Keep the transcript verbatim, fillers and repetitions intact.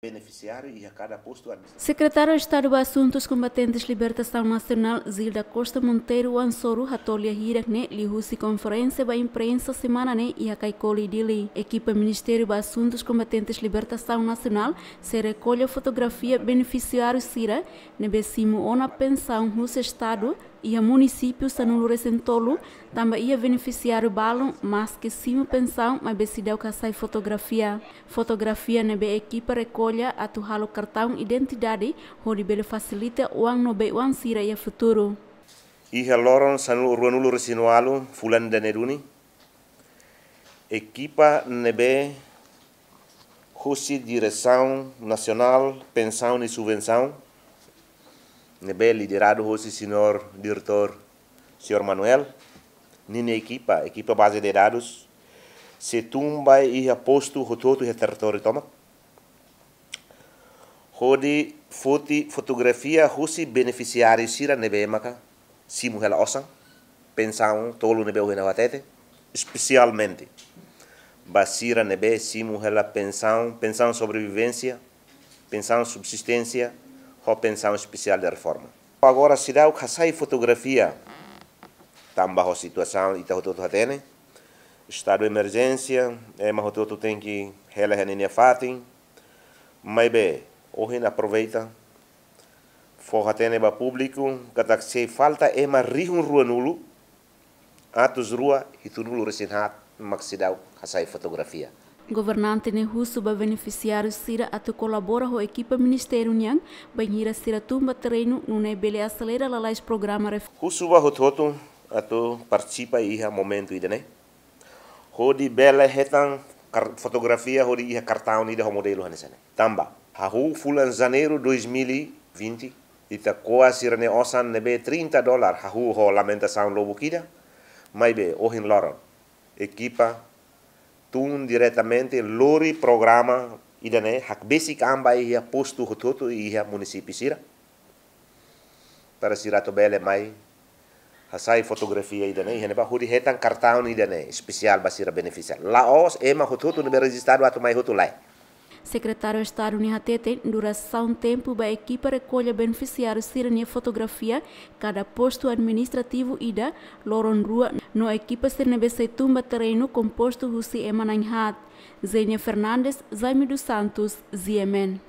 benefisiáriu iha kada postu administrativu. Sekretáriu Estadu ba Asuntus Kombatentes Libertasaun Nasionál, Zilda Costa Monteiro, oan soru hato'o lia hirak ne'e liuhusi konferénsia ba imprensa semana ne'e iha Caicoli, Dili. Ekipa Ministériu ba Asuntus Kombatentes Libertasaun Nasionál sei rekolla fotografia benefisiáriu sira ne'ebé simu ona pensaun husi Estadu iha munisípiu sanulu-resin-tolu, tanba iha benefisiáriu balun maski simu pensaun maibé seidauk hasai fotografia. Fotografia ne'ebé ekipa rekolla atu halo kartaun identidade hodi bele fasilita oan no bei-oan sira iha futuru. Iha loron sanulu, ruanulu-resin-ualu fulan ida-ne'e duni, ekipa ne'ebé husi Diresaun Nasionál Pensaun no Subvensaun, ne'ebé lideradu husi señór diretór, señór Manuel, ninia ekipa, ekipa baze de dadus, sei tun ba iha postu hotu-hotu iha territóriu tomak, hodi foti fotografia husi benefisiáriu sira ne'ebé maka simu hela osan pensaun tolu ne'ebé ohin ha'u hatete, espesialmente ba sira ne'ebé simu hela pensaun, pensaun sobrevivénsia, pensaun subsisténsia, ho pensaun espesiál de reforma. Agora seidauk hasai fotografia, tanba ho situasaun ita hotu-hotu hatene, estadu emerjénsia, ema hotu-hotu tenke hela iha ninia fatin, maibé ohin aproveita fó hatene ba públiku katak sei falta ema rihun ruanulu atus rua hitunulu-resin-haat mak seidauk hasai fotografia. Governante ne'e husu ba benefisiáriu sira atu kolabora ho ekipa ministériu nian, bainhira sira tun ba terrenu, nune'e bele aselera lalais programa ref- Husu ba hotu-hotu atu partisipa iha momentu ida-ne'e, hodi bele hetan kar-, fotografia hodi iha kartaun ida ho modelu hanesan ne'e. Tanba hahú fulan Janeiru dois mil e vinte, ita ko'a sira-nia osan ne'ebé trinta dólar hahú ho lamentasaun lubuk ida, maibé ohin loron ekipa tun diretamente lori programa ida-ne'e, hakbesik an ba iha postu hotu-hotu iha munisípiu sira, para sira atu bele mai hasai fotografia ida-ne'e, iha ne'ebá hodi hetan kartaun ida-ne'e espesiál ba sira benefisiáriu. La'ós ema hotu-hotu ne'ebé rejistadu atu mai hotu, lae. Sekretáriu Estadu ne'e hateten durasaun tempu ba ekipa rekolla benefisiáriu sira-nia fotografia kada postu administrativu ida, loron rua, no ekipa sira ne'ebé sei tun ba terrenu kompostu husi ema na'in-haat. Zenia Fernandes, Jaime dos Santos, G M N.